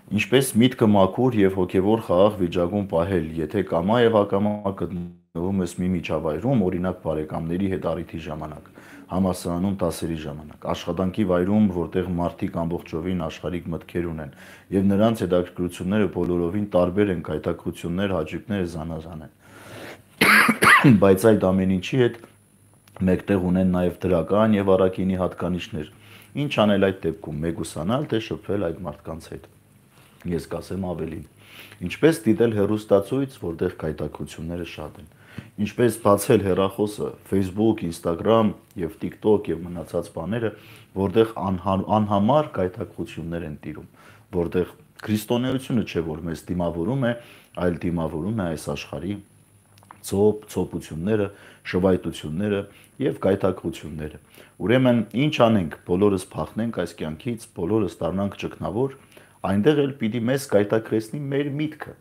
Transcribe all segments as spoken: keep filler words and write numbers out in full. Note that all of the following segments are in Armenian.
Ինչպես միտքը մաքուր եւ հոգեվոր խաղաղ վիճակում պահել, եթե կամա եւ ակամա գտնվում ես մի միջավայրում, օրինակ բարեկամների հետ առիթի ժամանակ, համալսարանում դասերի ժամանակ, աշխատանքի վայրում, որտեղ մարդիկ ամբողջովին աշխարհիկ մտքեր ունեն, եւ նրանց հետաքրքրությունները բոլորովին տարբեր են, կայտակրություններ, հաճույքները զանազան են։ Բայց այդ ամեն ինչի հետ մեկտեղ ունեն նաեւ դրական եւ առաքինի հատկանիշներ։ Ինչ անել այդ դեպքում՝ մեգուսանալ, թե շփվել այդ մարդկանց հետ։ Ես կասեմ ավելին։ Ինչպես դիտել հեռուստացույց, որտեղ կայտակրությունները շատ են։ Ինչպես բացել հեռախոսը Facebook, Instagram եւ TikTok եւ մնացած բաները, որտեղ անհամար կայտակրություններ են տիրում, որտեղ քրիստոնեությունը չէ որ մեզ դիմավորում է, այլ դիմավորում է այս աշխարհի ցոփ, ցոփությունները, շվայտությունները եւ կայտակրությունները։ Ուրեմն ինչ անենք, բոլորս փախնենք այս կյանքից, բոլորս դառնանք ճգնավոր, այնտեղ էլ պիտի մեզ կայտակրեցնի մեր միտքը։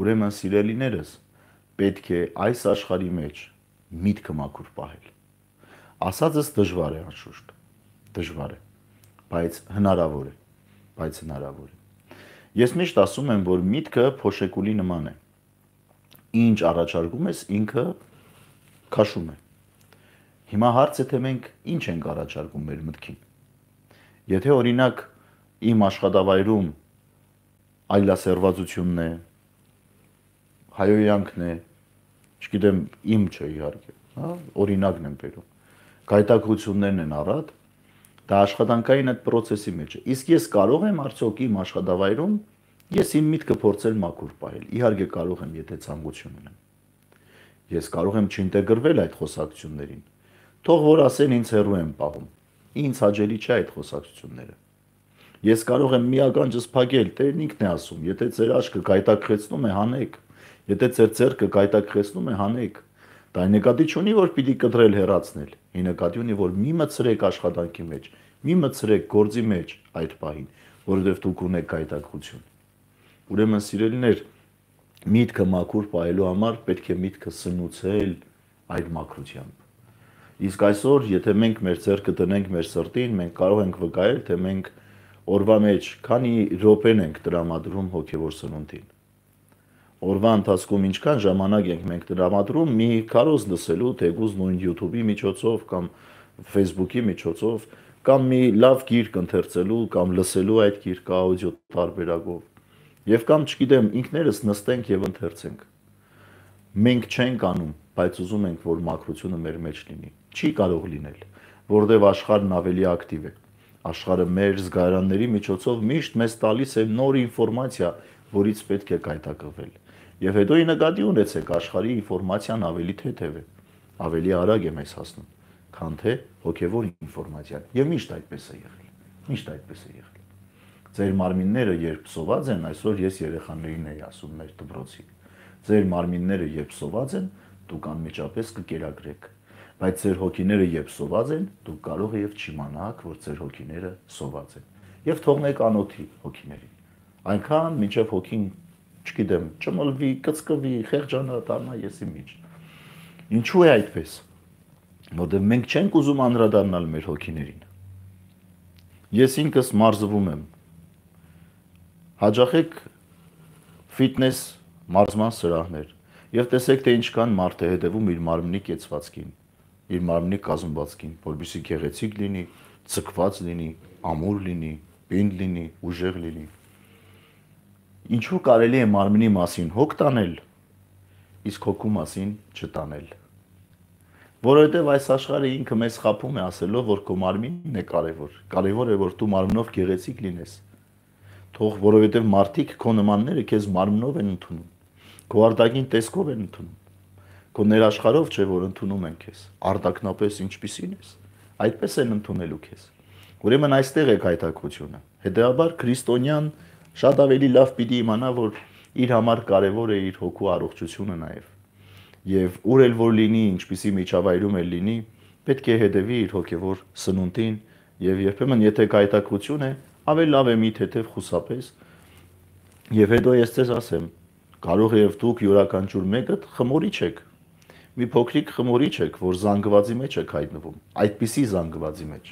Ուրեմն սիրելիներս, պետք է այս աշխարհի մեջ միտքը մաքուր պահել։ Ասածս դժվար է անշուշտ, դժվար է, բայց հնարավոր է, բայց հնարավոր է։ Ես միշտ ասում եմ, որ միտքը փոշեկուլի նման է։ Ինչ առաջարկում ես, ինքը քաշում է։ Հիմա հարցը թե մենք ինչ ենք առաջարկում մեր մտքին։ Եթե օրինակ իմ աշխատավայրում այլասերվածությունն է, հայոյանքն է, չգիտեմ, իմ չէ իհարկե, հա, օրինակն եմ բերում։ Գայտակրություններն են առատ, դա աշխատանքային այդ process-ի մեջ է։ Իսկ ես կարող եմ արդյոք իմ աշխատավայրում ես իմ միտքը փորձել մաքուր պահել։ Իհարկե կարող եմ, եթե ցանկություն ունեմ։ Ես կարող եմ չինտեգրվել այդ խոսակցություններին։ Թող որ ասեն ինձ հեռու եմ պահում։ Ինձ հաճելի չէ այդ խոսակցությունները։ Ես կարող եմ մի ականջս փակել, Տերն ինքն է ասում, եթե ձեր աչքը գայտակրեցնում է, հանեք, եթե ձեր ձեռքը գայտակրեցնում է, հանեք։ Դա նկատի չունի, որ պիտի կտրել հեռացնել։ Ի նկատի ունի, որ մի մցրեք աշխատանքի մեջ, մի մցրեք գործի մեջ այդ պահին, որովհետև դուք ունեք գայտակրություն։ Ուրեմն սիրելիներ, միտքը մաքուր պահելու համար պետք է միտքը սնուցել այդ մաքրությամբ։ Իսկ այսօր, եթե մենք մեր ձեռքը դնենք մեր սրտին, մենք կարող ենք վկայել, թե մենք օրվա մեջ քանի րոպեն ենք տրամադրում հոգևոր սնունդին։ Օրվա ընթացքում ինչքան ժամանակ ենք մենք տրամադրում մի քարոզ լսելու, թեկուզ նույն YouTube-ի միջոցով կամ Facebook-ի միջոցով, կամ մի լավ գիրք ընթերցելու կամ լսելու այդ գիրքը աուդիո տարբերակով։ Եվ կամ չգիտեմ, ինքներս նստենք եւ ընթերցենք։ Մենք չենք անում, բայց ուզում ենք, որ մաքրությունը մեր մեջ լինի։ Չի կարող լինել, որովհետև աշխարհն ավելի ակտիվ է։ Աշխարհը մեր զգայարանների միջոցով միշտ մեզ տալիս է նոր ինֆորմացիա, որից պետք է կայտակրվել։ Եվ հետո ի նկատի ունեցեք, աշխարհի ինֆորմացիան ավելի թեթև է, ավելի արագ է մեզ հասնում, քան թե հոգևոր ինֆորմացիան։ Եվ միշտ այդպես է եղել։ Միշտ այդպես է եղել։ Ձեր մարմինները երբ սոված են, այսօր ես երեխաներին էի ասում մեր դպրոցի։ Ձեր մարմինները երբ սոված են, դուք անմիջապես կկերակրեք, բայց ձեր հոգիները երբ սոված են, դուք կարող եք չիմանաք, որ ձեր հոգիները սոված են։ Եվ թողնեք անոթի հոգիներին։ Այնքան մինչև հոգին, չգիտեմ, ճմլվի, կծկվի, խեղճանա, դառնա եսի միջ։ Ինչու է այդպես։ Որտեղ մենք չենք ուզում անդրադառնալ մեր հոգիներին։ Ես ինքս մարզվում եմ։ Հաճախեք ֆիթնես մարզման սրահներ եւ տեսեք թե ինչքան մարդ է հետևում իր մարմնի կեցվածքին, իր մարմնի կազմվածքին, որպեսզի գեղեցիկ լինի, ցկված լինի, ամուր լինի, պինդ լինի, ուժեղ լինի։ Ինչու կարելի է մարմնի մասին հոգ տանել, իսկ հոգու մասին չտանել։ Որովհետև այս աշխարհը ինքը մեզ խաբում է ասելով, որ քո մարմինն է կարևոր։ Կարևոր է, որ դու մարմնով գեղեցիկ լինես։ Թող որովհետև մարդիկ քո նմանները քեզ մարմնով են ընդունում, քո արտաքին տեսքով են ընդունում, քո ներաշխարհով չէ որ ընդունում են քեզ, արտաքնապես ինչպիսին ես, այդպես են ընդունելու քեզ։ Ուրեմն այստեղ է գայթակղությունը։ Հետևաբար քրիստոնյան շատ ավելի լավ պիտի իմանա, որ իր համար կարևոր է իր հոգու առողջությունը նաև։ Եվ ուր էլ որ լինի, ինչպիսի միջավայրում էլ լինի, պետք է հետևի իր հոգևոր սնունդին եւ երբեմն եթե գայթակղություն է, ավելի լավ է մի թեթև խուսափես։ Եվ հետո ես ձեզ ասեմ, կարող է եւ դուք յուրաքանչյուր մեկը խմորիչ եք։ Մի փոքրիկ խմորիչ եք, որ զանգվածի մեջ եք հայտնվում, այդպիսի զանգվածի մեջ։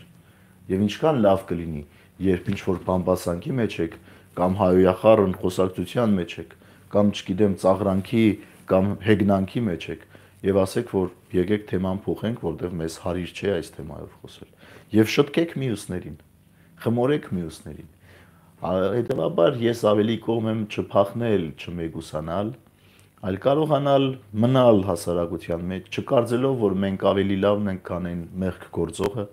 Եվ ինչքան լավ կլինի, երբ ինչ որ բամբասանքի մեջ եք, կամ հայոյախառն խոսակցության մեջ եք, կամ չգիտեմ ծաղրանքի կամ հեգնանքի մեջ եք, եւ ասեք, որ եկեք թեման փոխենք, որտեղ մեզ հարիր չէ այս թեմայով խոսել։ Եվ շտկեք մյուսներին, խմորեք մյուսներին։ Հետևաբար ես ավելի կողմ եմ չփախնել, չմեգուսանալ, այլ կարողանալ մնալ հասարակության մեջ, չկարծելով, որ մենք ավելի լավն ենք, քան այն մեղք գործողը,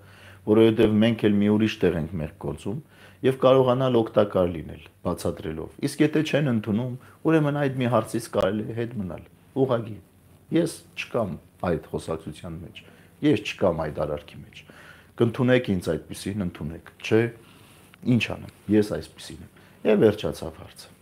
որովհետև մենք էլ մի ուրիշ տեղ ենք մեղք գործում, եւ կարողանալ օգտակար լինել, բացատրելով։ Իսկ եթե չեն ընդունում, ուրեմն այդ մի հարցից կարելի է հետ մնալ, ուղղակի։ Ես չկամ այդ խոսակցության մեջ, ես չկամ այդ արարքի մեջ։ Կընդունեք ինձ այդպեսին, ընդունեք, չէ, ինչ անեմ, ես այսպեսին եմ։ Եվ վերջացավ հարցը։